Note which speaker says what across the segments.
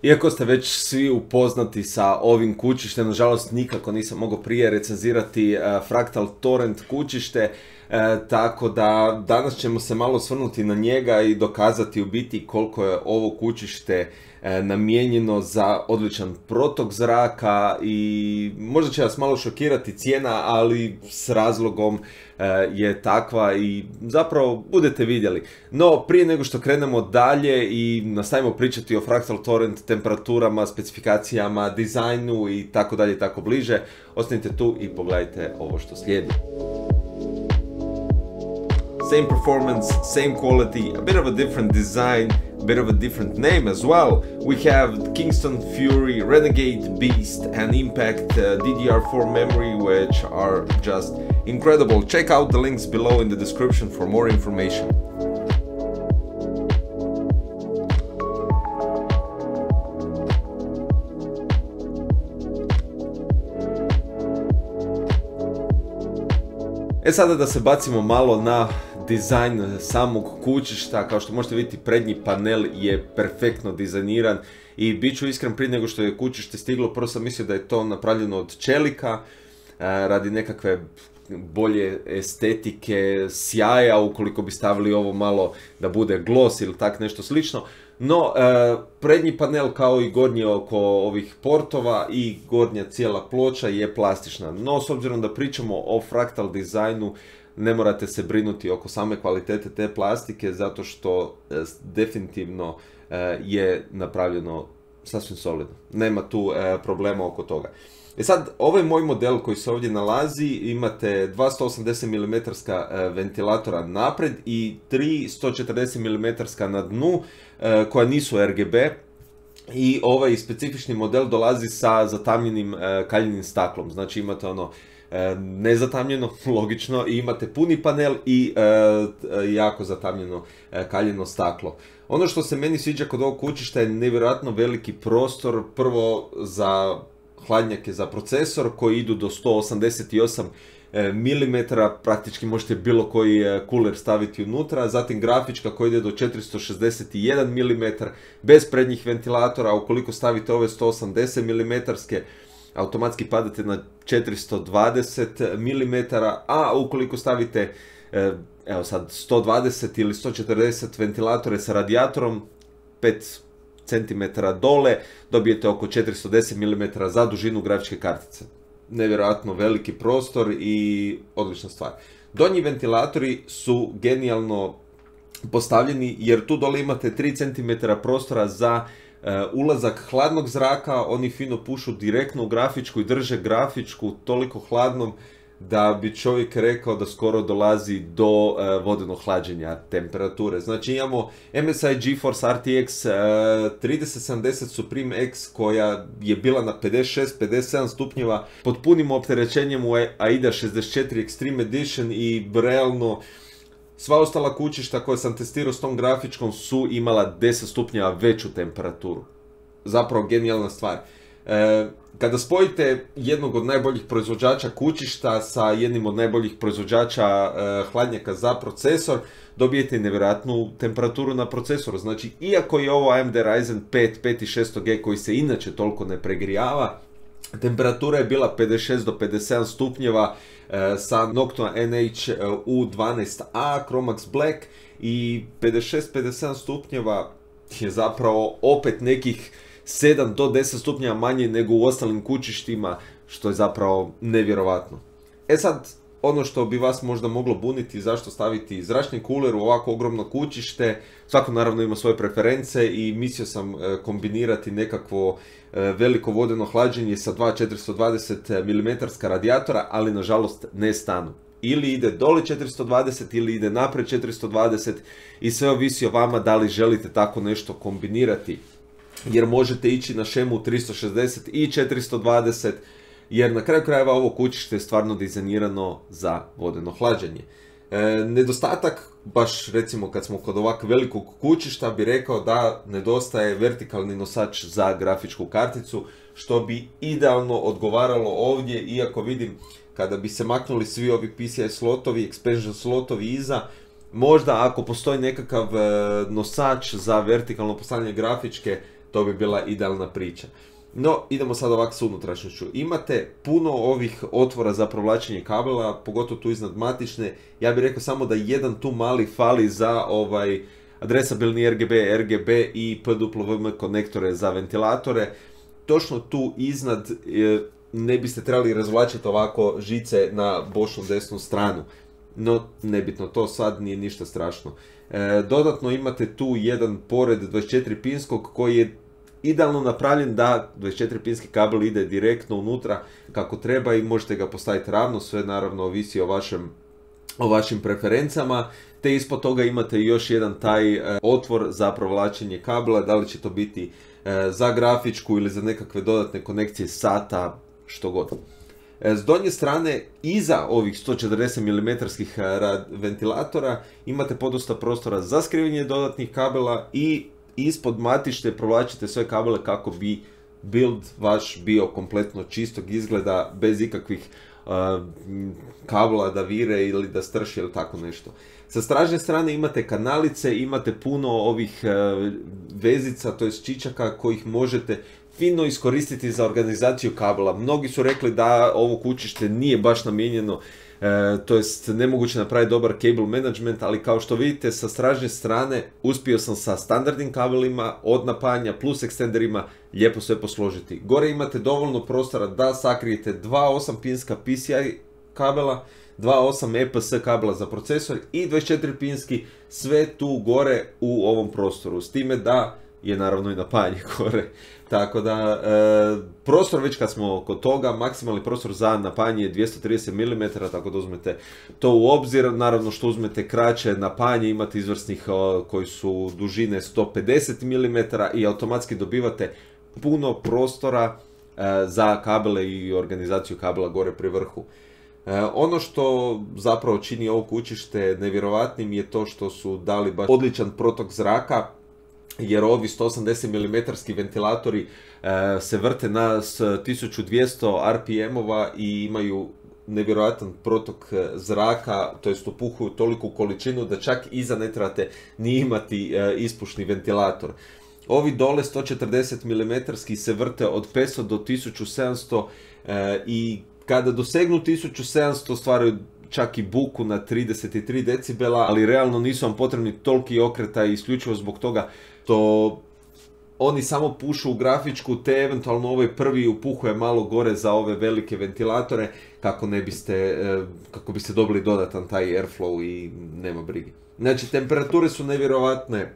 Speaker 1: Iako ste već svi upoznati sa ovim kućištem, nažalost nikako nisam mogao prije recenzirati Fractal Torrent kućište, tako da danas ćemo se malo osvrnuti na njega i dokazati u biti koliko je ovo kućište namijenjeno za odličan protok zraka i možda će vas malo šokirati cijena, ali s razlogom je takva i zapravo budete vidjeli. No, prije nego što krenemo dalje i nastavimo pričati o Fractal Torrent temperaturama, specifikacijama, dizajnu i tako dalje i tako bliže, ostanite tu i pogledajte ovo što slijedi. Same performance, same quality, a bit of a different design, a bit of a different name as well. We have Kingston Fury, Renegade Beast and Impact DDR4 memory, which are just incredible. Check out the links below in the description for more information. Sada da se bacimo malo na dizajn samog kućišta. Kao što možete vidjeti, prednji panel je perfektno dizajniran i bit ću iskren, prije nego što je kućište stiglo, prvo sam mislio da je to napravljeno od čelika radi nekakve bolje estetike, sjaja, ukoliko bi stavili ovo malo da bude gloss ili tak nešto slično. No, prednji panel kao i gornji oko ovih portova i gornja cijela ploča je plastična. No, s obzirom da pričamo o fraktal dizajnu, ne morate se brinuti oko same kvalitete te plastike, zato što definitivno je napravljeno sasvim solidno. Nema tu problema oko toga. Sad, ovaj moj model koji se ovdje nalazi, imate dva 180 mm ventilatora napred i tri 140 mm na dnu, koja nisu RGB. I ovaj specifični model dolazi sa zatamljenim kaljenim staklom. Znači imate ono nezatamljeno, logično, i imate puni panel i jako zatamljeno kaljeno staklo. Ono što se meni sviđa kod ovog kućišta je nevjerojatno veliki prostor, prvo za hladnjake za procesor koji idu do 188 mm, praktički možete bilo koji kuler staviti unutra, zatim grafička koja ide do 461 mm, bez prednjih ventilatora, ukoliko stavite ove 180 mm, automatski padate na 420 mm, a ukoliko stavite evo sad 120 ili 140 ventilatore sa radijatorom, 5 cm dole, dobijete oko 410 mm za dužinu grafičke kartice. Nevjerojatno veliki prostor i odlična stvar. Donji ventilatori su genijalno postavljeni jer tu dole imate 3 cm prostora za ulazak hladnog zraka, oni fino pušu direktno u grafičku i drže grafičku toliko hladnom da bi čovjek rekao da skoro dolazi do vodenog hlađenja temperature. Znači imamo MSI GeForce RTX 3070 Supreme X koja je bila na 56-57 stupnjeva pod punim opterećenjem u AIDA 64 Extreme Edition i realno sva ostala kućišta koje sam testirao s tom grafičkom su imala 10 stupnjeva veću temperaturu. Zapravo genijalna stvar. Kada spojite jednog od najboljih proizvođača kućišta sa jednim od najboljih proizvođača hladnjaka za procesor, dobijete nevjerojatnu temperaturu na procesoru. Znači, iako je ovo AMD Ryzen 5 5600G koji se inače toliko ne pregrijava, temperatura je bila 56 do 57 stupnjeva sa Noctua NH-U12A Chromax Black i 56-57 stupnjeva je zapravo opet nekih 7 do 10 stupnjeva manje nego u ostalim kućištima, što je zapravo nevjerovatno. Sad, ono što bi vas možda moglo buniti, zašto staviti zračni kuler u ovako ogromno kućište, svako naravno ima svoje preference i mislio sam kombinirati nekakvo veliko vodeno hlađenje sa dva 420 mm radijatora, ali nažalost ne stanu. Ili ide dole 420 ili ide napred 420 i sve ovisi o vama da li želite tako nešto kombinirati. Jer možete ići na šemu 360 i 420, jer na kraju krajeva ovo kućište je stvarno dizajnirano za vodeno hlađenje. Nedostatak, baš recimo kad smo kod ovak velikog kućišta, bi rekao da nedostaje vertikalni nosač za grafičku karticu, što bi idealno odgovaralo ovdje, iako vidim kada bi se maknuli svi ovi PCI slotovi, expansion slotovi iza, možda ako postoji nekakav nosač za vertikalno postavljanje grafičke to bi bila idealna priča. No, idemo sad ovako s unutrašnjošću. Imate puno ovih otvora za provlačenje kabela, pogotovo tu iznad matične. Ja bih rekao samo da jedan tu mali fali za adresabilni RGB, RGB i PWM konektore za ventilatore. Točno tu iznad ne biste trebali razvlačiti ovako žice na bočnu desnu stranu. No, nebitno, to sad nije ništa strašno. Dodatno imate tu jedan pored 24-pinskog koji je idealno napravljen da 24-pinski kabel ide direktno unutra kako treba i možete ga postaviti ravno, sve naravno ovisi o vašim preferencama, te ispod toga imate još jedan taj otvor za provlačenje kabela, da li će to biti za grafičku ili za nekakve dodatne konekcije sata, što god. S donje strane, iza ovih 140 mm ventilatora imate podosta prostora za skrivanje dodatnih kabela i ispod matište provlačite sve kabele kako bi build vaš bio kompletno čistog izgleda, bez ikakvih kabela da vire ili da strši ili tako nešto. Sa stražnje strane imate kanalice, imate puno ovih vezica, to jest čičaka kojih možete fino iskoristiti za organizaciju kabela. Mnogi su rekli da ovo kućište nije baš namijenjeno, to jest nemoguće napraviti dobar cable management, ali kao što vidite sa stražnje strane uspio sam sa standardnim kabelima od napajanja plus ekstenderima lijepo sve posložiti. Gore imate dovoljno prostora da sakrijete 2 8-pinska PCI kabela, 2 8 EPS kabela za procesor i 24-pinski, sve tu gore u ovom prostoru, s time da je naravno i napajanje gore. Tako da, prostor već kad smo kod toga, maksimalni prostor za napajanje je 230 mm, tako da uzmete to u obzir. Naravno što uzmete kraće napajanje, imate izvrsnih koji su dužine 150 mm i automatski dobivate puno prostora za kabele i organizaciju kabela gore pri vrhu. Ono što zapravo čini ovo kućište nevjerovatnim je to što su dali baš odličan protok zraka, jer ovi 180 mm ventilatori se vrte na 1200 RPM-ova i imaju nevjerojatan protok zraka, to jest upuhuju toliku količinu da čak iza ne trebate ni imati ispušni ventilator. Ovi dole 140 mm se vrte od 500 do 1700 i kada dosegnu 1700 stvaraju čak i buku na 33 decibela, ali realno nisu vam potrebni toliki okretaj isključivo zbog toga što oni samo pušu u grafičku, te eventualno ovaj prvi upuhuje malo gore za ove velike ventilatore kako biste dobili dodatan taj airflow i nema brige. Znači, temperature su nevjerovatne,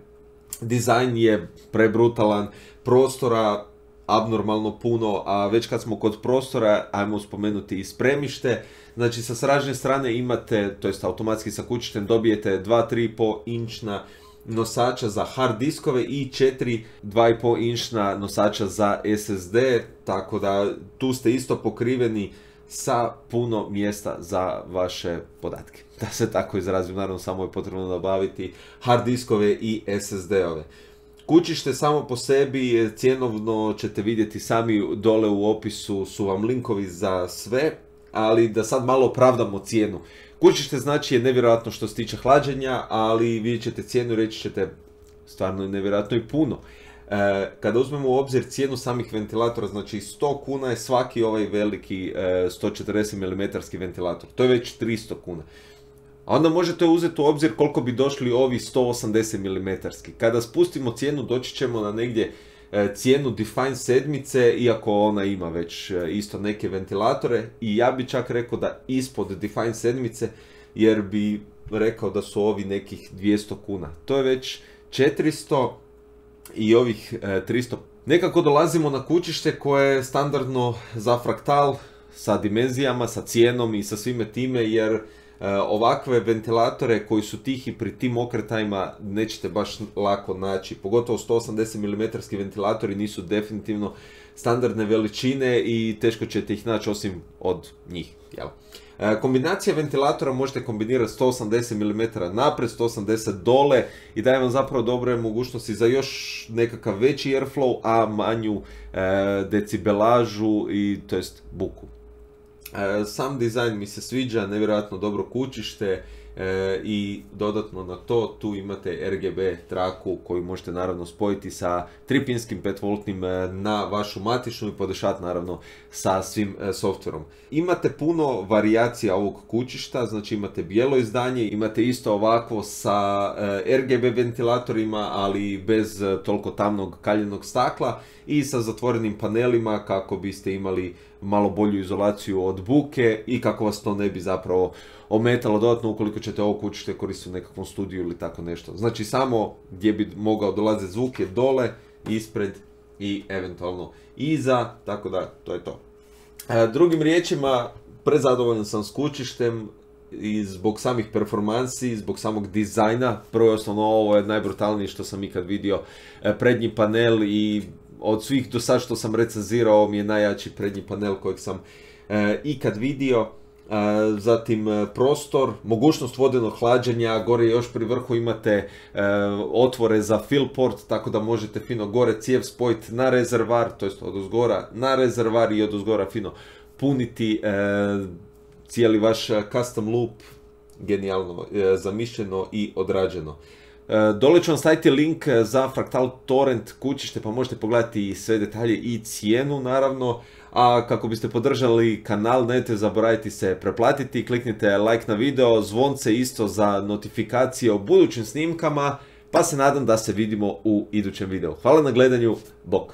Speaker 1: dizajn je prebrutalan, prostora abnormalno puno, a već kad smo kod prostora, ajmo spomenuti i spremište. Znači, sa stražnje strane imate, to jest automatski sa kućištem dobijete 2-3,5 inčna nosača za hard diskove i 4 2,5 inčna nosača za SSD, tako da tu ste isto pokriveni sa puno mjesta za vaše podatke. Da se tako izrazim, naravno samo je potrebno nabaviti hard diskove i SSD-ove. Kućište samo po sebi, cjenovno ćete vidjeti sami dole u opisu, su vam linkovi za sve, ali da sad malo opravdamo cijenu. Kućište znači je nevjerojatno što se tiče hlađenja, ali vidjet ćete cijenu i reći ćete stvarno je nevjerojatno i puno. Kada uzmemo u obzir cijenu samih ventilatora, znači 100 kuna je svaki ovaj veliki 140 mm ventilator, to je već 300 kuna. A onda možete uzeti u obzir koliko bi došli ovi 180 mm. Kada spustimo cijenu doći ćemo na negdje cijenu Define 7, iako ona ima već isto neke ventilatore, i ja bi čak rekao da ispod Define 7, jer bi rekao da su ovi nekih 200 kuna. To je već 400 i ovih 300. Nekako dolazimo na kućište koje je standardno za fraktal sa dimenzijama, sa cijenom i sa svime time, jer ovakve ventilatore koji su tihi pri tim okretajima nećete baš lako naći. Pogotovo 180 mm ventilatori nisu definitivno standardne veličine i teško ćete ih naći osim od njih. Jel? Kombinacija ventilatora možete kombinirati 180 mm naprijed, 180 dole i daje vam zapravo dobre mogućnosti za još nekakav veći airflow, a manju decibelažu i to jest buku. Sam dizajn mi se sviđa, nevjerojatno dobro kućište I dodatno na to tu imate RGB traku koju možete naravno spojiti sa 3-pinskim 5V na vašu matičnu i podešati naravno sa svim softverom. Imate puno varijacija ovog kućišta, znači imate bijelo izdanje, imate isto ovakvo sa RGB ventilatorima, ali bez toliko tamnog kaljenog stakla i sa zatvorenim panelima kako biste imali malo bolju izolaciju od buke i kako vas to ne bi zapravo ometalo dodatno ukoliko ćete ovo kućište koristiti u nekakvom studiju ili tako nešto. Znači samo gdje bi mogao dolaziti zvuk je dole, ispred i eventualno iza, tako da to je to. Drugim riječima, prezadovoljan sam s kućištem i zbog samih performansi, zbog samog dizajna. Prvo i osnovno ovo je najbrutalnije što sam ikad vidio, prednji panel i od svih do sad što sam recenzirao, ovo mi je najjači prednji panel kojeg sam ikad vidio. Zatim prostor, mogućnost vodenog hlađenja, gore još pri vrhu imate otvore za fill port, tako da možete fino gore cijev spojiti na rezervar, to jest odozgora na rezervar i odozgora fino puniti cijeli vaš custom loop. Genijalno zamišljeno i odrađeno. Dole ću vam staviti link za Fractal Torrent kućište pa možete pogledati sve detalje i cijenu naravno. A kako biste podržali kanal, nemojte zaboraviti se preplatiti, kliknite like na video, zvonce isto za notifikacije o budućim snimkama, pa se nadam da se vidimo u idućem videu. Hvala na gledanju, bok!